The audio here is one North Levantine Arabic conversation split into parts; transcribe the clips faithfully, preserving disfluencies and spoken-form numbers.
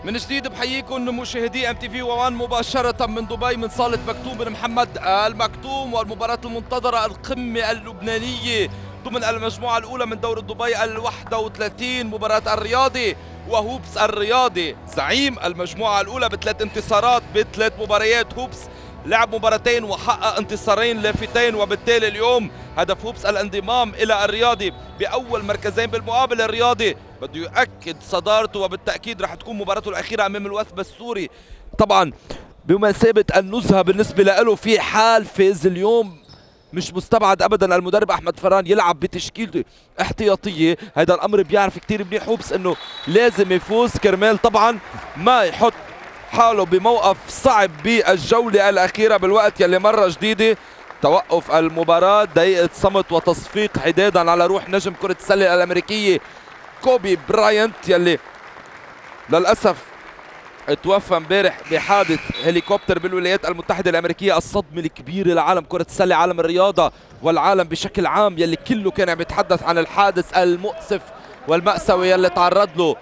من جديد بحييكم مشاهدي ام تي في وان مباشرة من دبي من صالة مكتوم بن محمد المكتوم، والمباراة المنتظرة القمة اللبنانية ضمن المجموعة الأولى من دوري دبي الواحدة وثلاثين، مباراة الرياضي وهوبس الرياضي زعيم المجموعة الأولى بثلاث انتصارات بثلاث مباريات. هوبس لعب مباراتين وحقق انتصارين لافتين، وبالتالي اليوم هدف هوبس الانضمام إلى الرياضي بأول مركزين. بالمقابل الرياضي بده يؤكد صدارته، وبالتأكيد رح تكون مباراته الأخيرة أمام الوثب السوري، طبعا بمثابة النزهة بالنسبة له في حال فاز اليوم. مش مستبعد ابدا المدرب احمد فران يلعب بتشكيلته احتياطيه، هذا الامر بيعرف كثير منيح هوبس انه لازم يفوز كرمال طبعا ما يحط حاله بموقف صعب بالجوله الاخيره بالوقت يلي مره جديده. توقف المباراه، دقيقه صمت وتصفيق حدادا على روح نجم كره السله الامريكيه كوبي براينت يلي للاسف توفى امبارح بحادث هليكوبتر بالولايات المتحدة الأمريكية. الصدمة الكبيرة لعالم كرة السلة، عالم الرياضة والعالم بشكل عام، يلي كله كان عم يتحدث عن الحادث المؤسف والمأساوي يلي تعرض له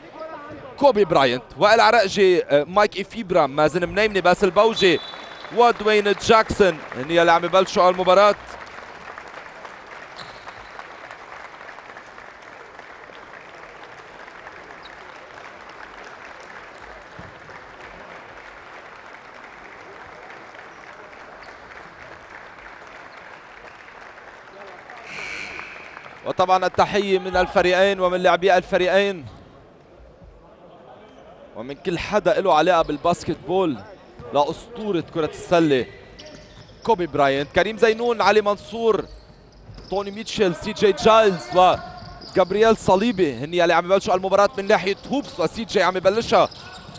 كوبي براينت. وائل عرقجي، مايك إفيبرا، مازن منيمني، باسل بوجي ودوين جاكسون هن يلي عم يبلشوا المباراة. وطبعا التحية من الفريقين ومن لاعبي الفريقين ومن كل حدا له علاقة بالباسكت بول لأسطورة كرة السلة كوبي براينت. كريم زينون، علي منصور، توني ميتشل، سي جي جايلز وجابرييل صليبي هن يلي عم يبلشوا المباراة من ناحية هوبس، وسي جي عم يبلشها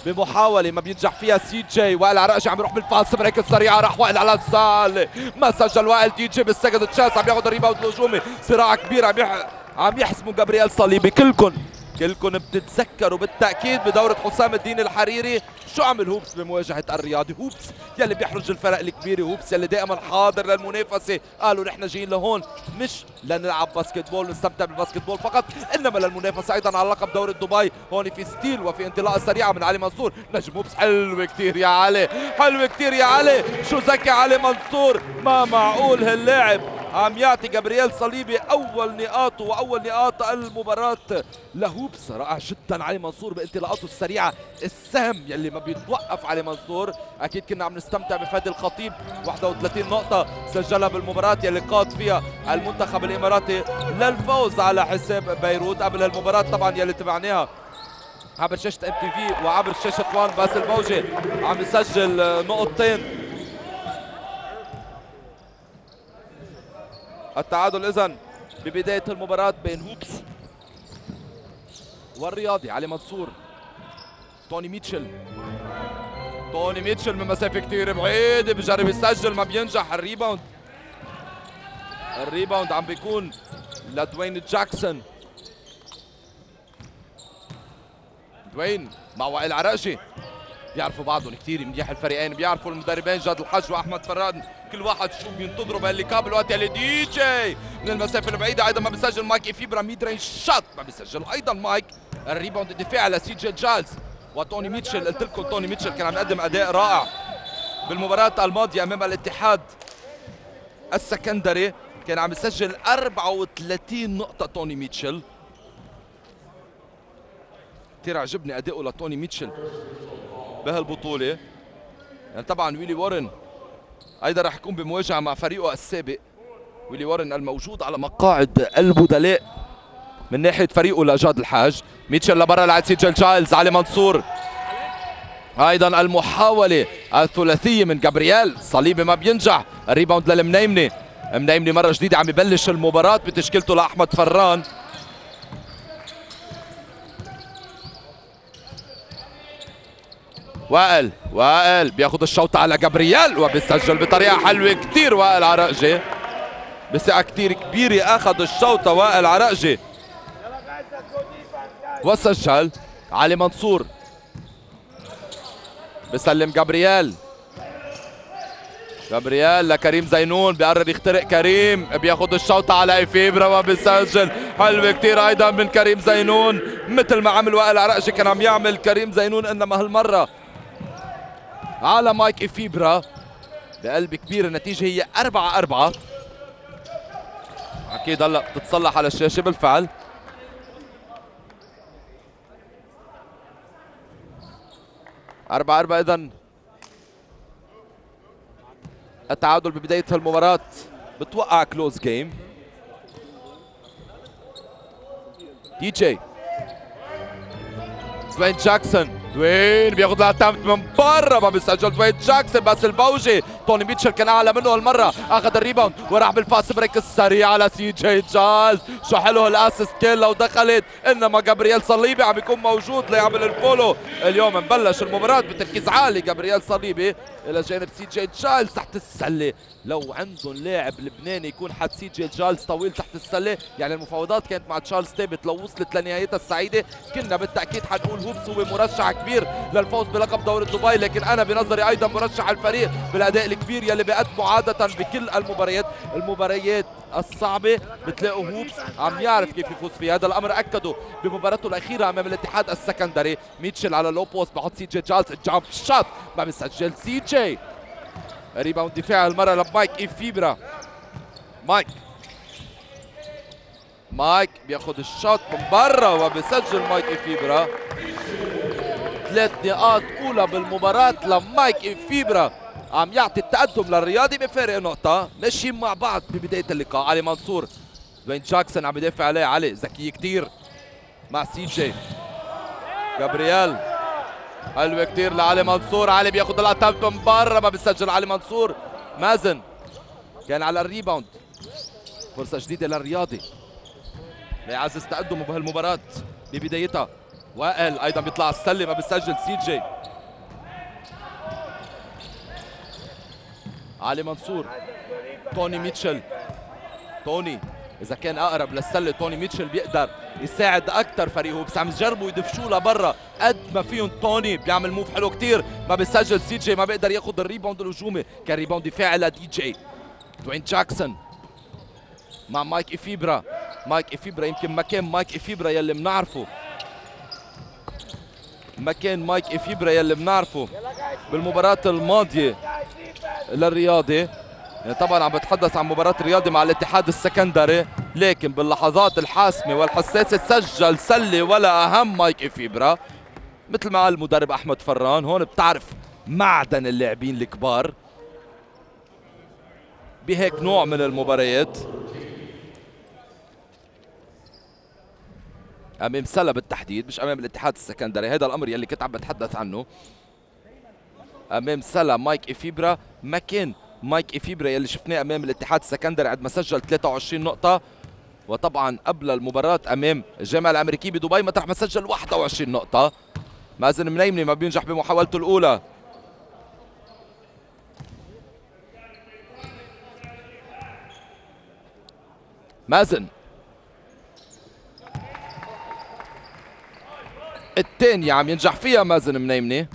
بمحاولة ما بينجح فيها سي جي. وائل عرقجي عم يروح بالفاس بريك السريعة، راح وائل على السال، ما سجل وائل. دي جي بالسكند تشانس عم ياخذ الريباوند الهجومي، صراع كبير عم يح... عم يحسموا جابرييل صليبي. كلكم كلكم بتتذكروا بالتأكيد بدورة حسام الدين الحريري شو عمل هوبس بمواجهة الرياضي. هوبس يلي بيحرج الفرق الكبيرة، هوبس يلي دائما حاضر للمنافسة. قالوا نحن جايين لهون مش لنلعب باسكت بول نستمتع بالباسكت بول فقط، انما للمنافسة ايضا على لقب دوري دبي. هون في ستيل وفي انطلاقة سريعة من علي منصور. نجم هوبس حلوة كثير يا علي، حلوة كثير يا علي، شو ذكي علي منصور، ما معقول هاللاعب عم يعطي جابرييل صليبي اول نقاطه واول نقاط المباراة لهوبس. رائع جدا علي منصور بانطلاقاته السريعة، السهم يلي ما بيتوقف علي منصور. اكيد كنا عم نستمتع بفادي الخطيب، واحد وثلاثين نقطة سجلها بالمباراة يلي قاد فيها المنتخب الاماراتي للفوز على حساب بيروت. قبل المباراة طبعا يلي تبعناها عبر شاشة ام تي في وعبر شاشة وان، باسل بوجي عم يسجل نقطتين. التعادل اذن ببداية المباراة بين هوبس والرياضي. علي منصور، توني ميتشل، توني ميتشل من مسافة كتير بعيدة بجرب يسجل ما بينجح. الريباوند الريباوند عم بيكون لدوين جاكسون. دوين مع وائل عرقجي، بيعرفوا بعضهم كثير منيح الفريقين، بيعرفوا المدربين جاد الحج واحمد فران كل واحد شو بينتظروا بهاللقاء بالوقت يلي دي جي من المسافه البعيده ايضا ما بيسجل مايك إفيبرا. ميد رينج شوت ما بيسجل ايضا مايك. الريباوند الدفاعي لسي جي جايلز وتوني ميتشل. قلت لكم توني ميتشل كان عم يقدم اداء رائع بالمباراه الماضيه امام الاتحاد السكندري، كان عم يسجل أربعة وثلاثين نقطه توني ميتشل. كثير عجبني اداؤه لتوني ميتشل بهالبطوله. يعني طبعا ويلي وارن ايضا راح يكون بمواجهه مع فريقه السابق، ويلي وارن الموجود على مقاعد البدلاء من ناحيه فريقه لجاد الحاج. ميتشل لبرا لعند سيجل جايلز. علي منصور ايضا المحاوله الثلاثيه من جابرييل صليبي ما بينجح. الريباوند للمنيمني، منيمني مره جديده عم يبلش المباراه بتشكيلته لاحمد فران. وائل وائل بياخذ الشوطة على جابرييل وبيسجل بطريقة حلوة كثير. وائل عرقجي بثقة كثير كبيرة اخذ الشوطة وائل عرقجي وسجل. علي منصور بسلم جابرييل، جابرييل لكريم زينون، بيقرر يخترق كريم، بياخد الشوطة على إفيبرا وبيسجل. حلوة كتير أيضا من كريم زينون، مثل ما عمل وائل عرقشي كان عم يعمل كريم زينون، إنما هالمرة على مايك إفيبرا بقلب كبير. النتيجة هي أربعة أربعة. أكيد هلا بتتصلح على الشاشة بالفعل. أربعة أربعة. إذن التعادل ببداية المباراة بتوقع كلوز جيم. دي جي دوين جاكسون، دوين بياخذ الاتمت من برا، ما بيسجل دوين جاكسون، بس البوجي توني ميتشل كان اعلى منه هالمره، اخذ الريباوند وراح بالفاست بريك السريع على سي جي جايلز. شو حلو الاسيست كيل لو دخلت، انما جابرييل صليبي عم يكون موجود ليعمل الفولو. اليوم مبلش المباراه بتركيز عالي. جابرييل صليبي الى جانب سي جي جايلز تحت السله. لو عندهم لاعب لبناني يكون حد سي جي جايلز طويل تحت السله، يعني المفاوضات كانت مع تشارلز تيبت لو وصلت لنهايتها السعيده كنا بالتاكيد حنقول هوبس هو مرشح كبير للفوز بلقب دوري دبي، لكن انا بنظري ايضا مرشح الفريق بالاداء الكبير يلي بيقدمه عاده بكل المباريات. المباريات الصعبه بتلاقوا هوبس عم يعرف كيف يفوز فيها. هذا الامر اكده بمباراته الاخيره امام الاتحاد السكندري. ميتشل على لو بوست بحط سي جي جايلز جامب شوت ما بيسجل سي جي. ريباوند دفاع المره لمايك إفيبرا. مايك مايك بياخذ الشوت من برا وبيسجل مايك إفيبرا. ثلاث نقاط اولى بالمباراه لمايك إفيبرا، عم يعطي التقدم للرياضي بفارق نقطه. ماشيين مع بعض ببدايه اللقاء. علي منصور، دوين جاكسون عم يدافع عليه. علي ذكي كثير مع سي جي. جابرييل حلوه كثير لعلي منصور. علي بياخذ الاتمت من برا ما بيسجل علي منصور. مازن كان على الريباوند. فرصه جديده للرياضي ليعزز تقدمه بهالمباراه ببدايتها. وائل ايضا بيطلع على السله ما بيسجل سي جي. علي منصور، توني ميتشل. توني اذا كان اقرب للسله توني ميتشل بيقدر يساعد اكثر فريقه، بس عم يجربوا يدفشوه لبرا قد ما فيهم. توني بيعمل موف حلو كثير ما بيسجل سي جي، ما بيقدر ياخذ الريباوند الهجومي، كان ريباوند دفاعي لدي جي. دوين جاكسون مع مايك إفيبرا. مايك إفيبرا يمكن مكان مايك إفيبرا يلي بنعرفه، مكان مايك إفيبرا يلي بنعرفه بالمباراة الماضية للرياضي. يعني طبعا عم بتحدث عن مباراة الرياضي مع الاتحاد السكندري، لكن باللحظات الحاسمة والحساسة سجل سلة ولا أهم مايك إفيبرا. مثل ما قال المدرب أحمد فران، هون بتعرف معدن اللاعبين الكبار بهيك نوع من المباريات. امام سلا بالتحديد، مش امام الاتحاد السكندري، هذا الامر يلي كنت عم بتحدث عنه. امام سلا مايك إفيبرا مكان مايك إفيبرا يلي شفناه امام الاتحاد السكندري عندما سجل ثلاثة وعشرين نقطة، وطبعا قبل المباراة امام الجامعة الامريكية بدبي مطرح ما سجل واحد وعشرين نقطة. مازن منيمني ما بينجح بمحاولته الاولى. مازن الثانية عم ينجح فيها مازن منيمني.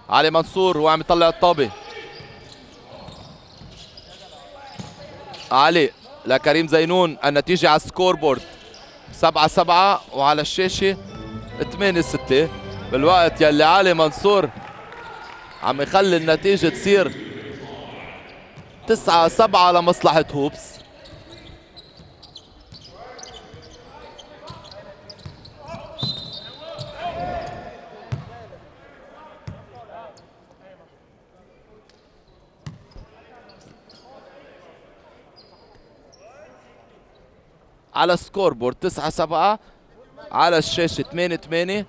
علي منصور هو عم يطلع الطابة. علي لكريم زينون. النتيجة على السكور بورد سبعة سبعة وعلى الشاشة ثمانية ستة، بالوقت يلي علي منصور عم يخلي النتيجة تصير تسعة سبعة لمصلحة هوبس. على السكور بورد تسعة سبعة، على الشاشة ثمانية ثمانية.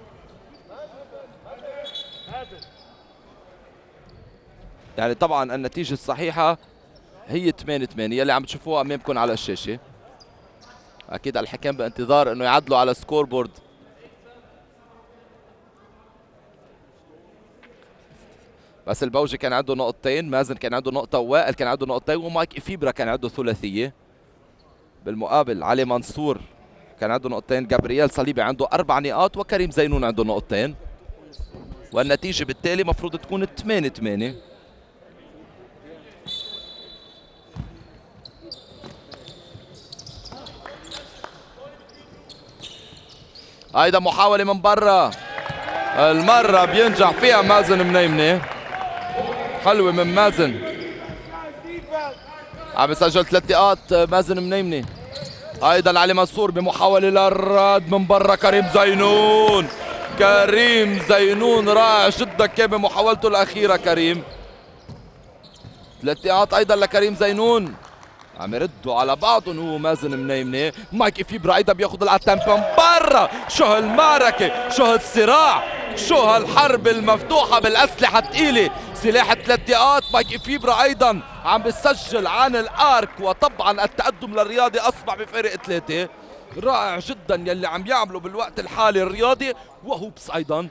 يعني طبعا النتيجة الصحيحة هي ثمانية ثمانية يلي عم تشوفوها امامكم على الشاشة. اكيد الحكام بانتظار انه يعدلوا على السكور بورد. بس البوجي كان عنده نقطتين، مازن كان عنده نقطة، ووائل كان عنده نقطتين، ومايك إفيبرا كان عنده ثلاثية. بالمقابل علي منصور كان عنده نقطتين، جابرييل صليبي عنده أربع نقاط، وكريم زينون عنده نقطتين. والنتيجة بالتالي مفروض تكون ثمانية ثمانية. هيدا محاولة من برا، المرة بينجح فيها مازن منيمنة. حلوة من مازن، عم يسجل ثلاث نقاط مازن منيمنة. ايضا علي منصور بمحاولة للرد من برا. كريم زينون، كريم زينون رائع جدا كان بمحاولته الأخيرة. كريم ثلاث نقاط ايضا لكريم زينون. عم يردوا على بعضهم هو مازن منيمنة. مايك إفيبرا ايضا بياخذ العتمبة من برا. شو هالمعركة، شو هالصراع، شو هالحرب المفتوحة بالأسلحة الثقيلة. سلاح ثلاث نقاط. مايك إفيبرا ايضا عم بيسجل عن الارك، وطبعا التقدم للرياضي اصبح بفارق ثلاثة. رائع جدا يلي عم يعمله بالوقت الحالي الرياضي. وهوبس ايضا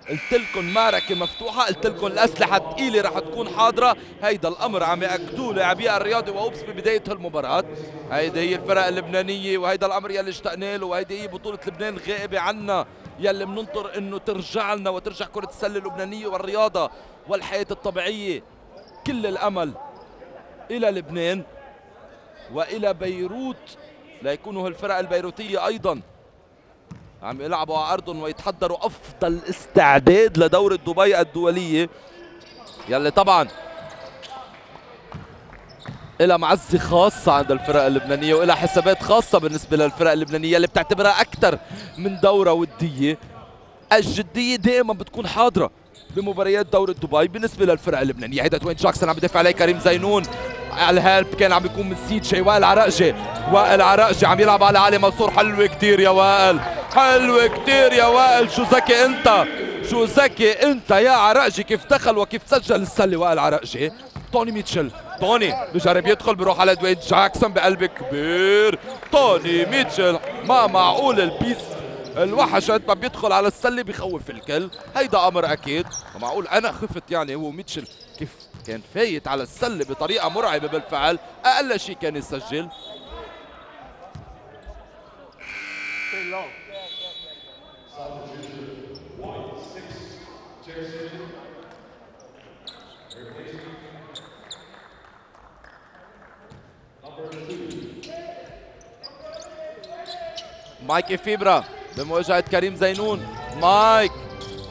قلت لكم معركة مفتوحة، قلت لكم الأسلحة الثقيلة رح تكون حاضرة. هيدا الأمر عم يأكدوه لاعبي الرياضي وهوبس ببداية هالمباراة. هيدي هي الفرق اللبنانية، وهيدا الأمر يلي اشتقنا له، وهيدي هي بطولة لبنان الغائبة عنا يلي بننطر إنه ترجع لنا وترجع كرة السلة اللبنانية والرياضة والحياة الطبيعية. كل الأمل إلى لبنان وإلى بيروت ليكونوا هالفرق البيروتية أيضا عم يلعبوا على أرضهم ويتحضروا أفضل استعداد لدورة دبي الدولية يلي طبعا إلها معزة خاصة عند الفرق اللبنانية وإلها حسابات خاصة بالنسبة للفرق اللبنانية اللي بتعتبرها أكثر من دورة ودية. الجدية دائما بتكون حاضرة بمباريات دورة دبي بالنسبة للفرق اللبنانية. هيدا دوين جاكسون عم بدافع عليه كريم زينون. الهلب كان عم بيكون من سيتشي. وائل عرقجي، وائل عرقجي عم يلعب على علي منصور. حلوة كتير يا وائل، حلوة كتير يا وائل. شو ذكي انت، شو ذكي انت يا عرقجي. كيف دخل وكيف سجل السلة وائل عرقجي. توني ميتشل، توني بجرب يدخل بيروح على دوين جاكسون بقلب كبير. توني ميتشل ما معقول البيست الوحش قد ما بيدخل على السله بخوف الكل. هيدا امر اكيد معقول. انا خفت يعني هو ميتشل كيف كان فايت على السله بطريقه مرعبه بالفعل. اقل شيء كان يسجل. مايك إفيبرا بمواجهة كريم زينون. مايك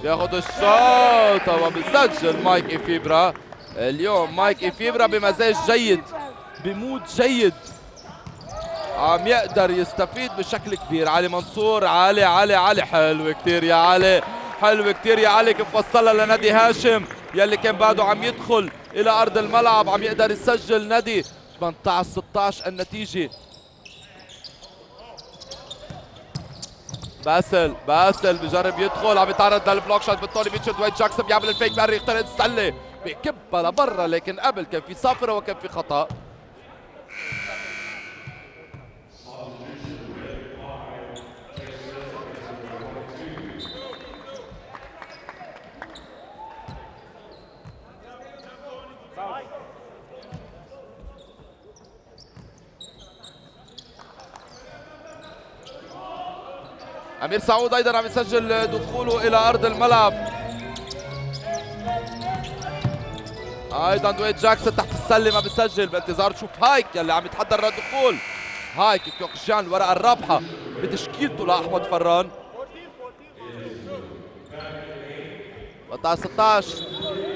بياخذ الشوط وبيسجل مايك إفيبرا. اليوم مايك إفيبرا بمزاج جيد، بمود جيد، عم يقدر يستفيد بشكل كبير. علي منصور، علي علي علي حلو كتير يا علي، حلو كتير يا علي. كيف وصلها لنادي هاشم يلي كان بعده عم يدخل إلى أرض الملعب. عم يقدر يسجل نادي. ثمانية عشر ستة عشر النتيجة. باسل، باسل بجرب يدخل، عم يتعرض للبلوك شوت بالطولي. بيتشر دوين جاكسون بيعمل الفيك باري، يخترق السله بكبها لبرا، لكن قبل كان في صافره وكان في خطا. أمير سعود أيضا عم يسجل دخوله إلى أرض الملعب. أيضا دوين جاكسون تحت السلة ما بيسجل بانتظار تشوف هايك يلي عم يتحضر للدخول. هايك كوكجان الورقة الرابحة بتشكيلته لأحمد فران. ثمانية عشر ستة عشر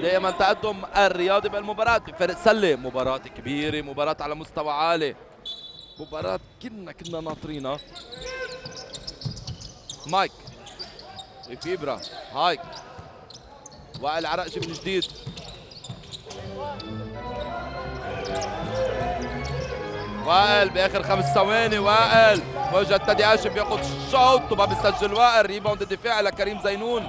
دائما تقدم الرياضي بالمباراة بفرق سلة. مباراة كبيرة، مباراة على مستوى عالي، مباراة كنا كنا ناطرينها. مايك إفيبرا، هايك، وائل عرقجي من جديد. وائل باخر خمس ثواني. وائل مواجهة نادي هاشم بياخذ شوط وما بيسجل. وائل ريباوند دفاعي لكريم زينون.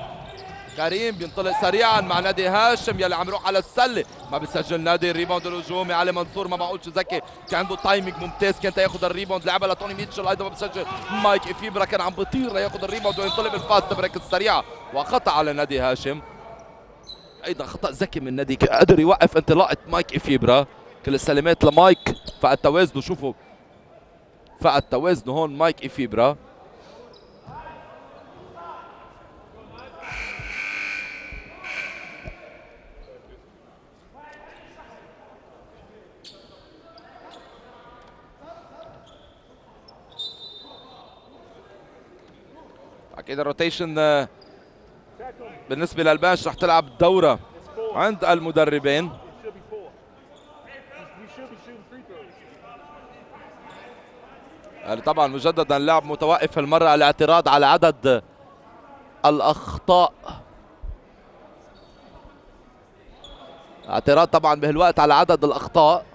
كريم بينطلق سريعا مع نادي هاشم يلي عم يروح على السله، ما بيسجل نادي. الريباوند الهجومي علي منصور ما معقول شو ذكي، كان عنده تايمينج ممتاز، كان ياخذ الريباوند. لعبها لتوني ميتشل ايضا ما بيسجل. مايك إفيبرا كان عم بيطير لياخذ الريباوند وينطلق بالفاست بريك السريعه وخطا على نادي هاشم. ايضا خطا ذكي من نادي، قدر يوقف انطلاقه مايك إفيبرا. كل السلامات لمايك، فقد توازنه. شوفوا فقد توازنه هون مايك إفيبرا. اكيد الروتيشن بالنسبه للبنش رح تلعب الدوره عند المدربين. يعني طبعا مجددا اللعب متوقف المره، الاعتراض على عدد الاخطاء، اعتراض طبعا بهالوقت على عدد الاخطاء.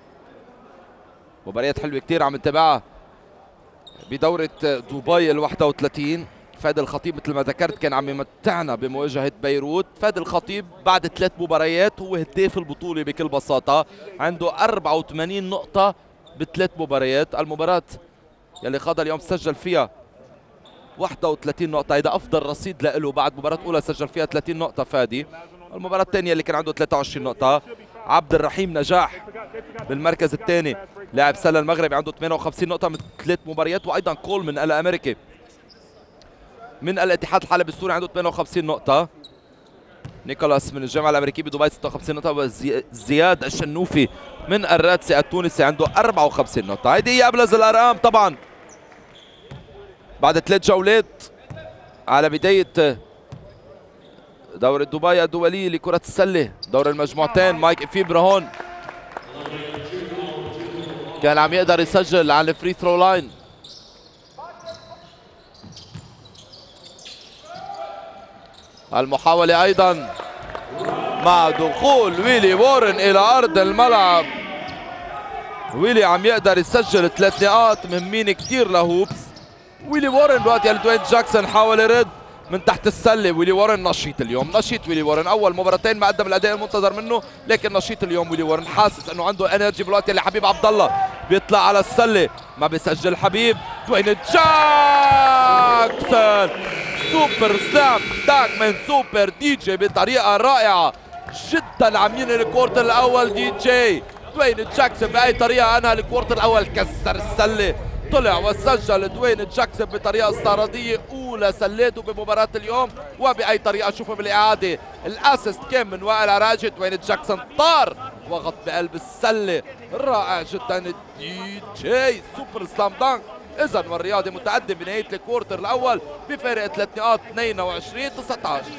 مباريات حلوه كثير عم نتابعها بدوره دبي ال واحد وثلاثين. فادي الخطيب مثل ما ذكرت كان عم يمتعنا بمواجهه بيروت. فادي الخطيب بعد ثلاث مباريات هو هداف البطوله بكل بساطه، عنده أربعة وثمانين نقطه بثلاث مباريات. المباراه يلي خاضها اليوم سجل فيها واحد وثلاثين نقطه، هيدا افضل رصيد له بعد مباراه اولى سجل فيها ثلاثين نقطه فادي. المباراه الثانيه اللي كان عنده ثلاثة وعشرين نقطه. عبد الرحيم نجاح بالمركز الثاني، لاعب سله المغربي عنده ثمانية وخمسين نقطه من ثلاث مباريات. وايضا كول من الامريكي من الاتحاد الحلبي السوري عنده ثمانية وخمسين نقطه. نيكولاس من الجامعه الامريكيه بدبي ستة وخمسين نقطه. وزياد الشنوفي من الرادسي التونسي عنده أربعة وخمسين نقطه. هيدي هي ابرز الارقام طبعا بعد ثلاث جولات على بدايه دورة دبي الدولية لكرة السلة، دور المجموعتين. مايك إفيبرا هون كان عم يقدر يسجل على الفري ثرو لاين. المحاولة أيضا مع دخول ويلي وورن إلى أرض الملعب. ويلي عم يقدر يسجل ثلاث نقاط مهمين كثير لهوبس. ويلي وورن دلوقتي يلي دوين جاكسون حاول يرد من تحت السله. ويلي وورن نشيط اليوم، نشيط ويلي وورن. اول مباراتين ما قدم الاداء المنتظر منه، لكن نشيط اليوم ويلي وورن. حاسس انه عنده انرجي بالوقت اللي حبيب عبد الله بيطلع على السله ما بيسجل. حبيب دوين جاكسون سوبر سلام داك من سوبر دي جي بطريقه رائعه جدا. عم ينهي الكورتر الاول دي جي دوين جاكسون باي طريقه انهى الكورتر الاول، كسر السله، طلع وسجل دوين جاكسون بطريقه استعراضيه اولى سلاته بمباراه اليوم. وباي طريقه شوفوا بالاعاده الاسيست كان من وائل عراجي. دوين جاكسون طار وغط بقلب السله، رائع جدا الدي جي سوبر سلام دانك. اذا والرياضي متقدم بنهايه الكوارتر الاول بفارق ثلاث نقاط اثنين وعشرين تسعة عشر.